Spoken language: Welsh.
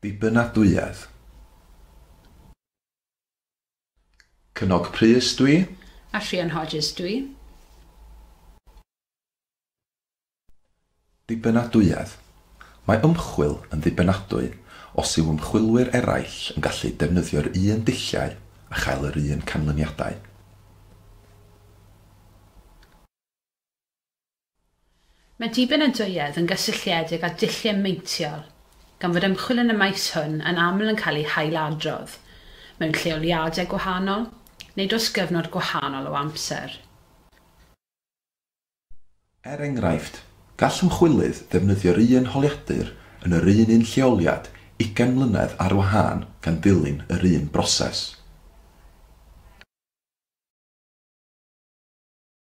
Dibynadwyedd. Cynog Prys dwi. A Rhian Hodges dwi. Dibynadwyedd. Mae ymchwil yn ddibynadwy os yw ymchwilwyr eraill yn gallu defnyddio'r un dulliau a chael yr un canlyniadau. Mae dibynadwyedd yn gysylltiedig â dulliau meintiol, gan fod ymchwil yn y maes hwn yn aml yn cael ei hailadrodd mewn lleoliadau gwahanol neu dros gyfnod gwahanol o amser. Er enghraifft, gall ymchwilydd ddefnyddio'r un holiadur yn yr un un lleoliad 20 mlynedd ar wahân gan ddilyn yr un broses.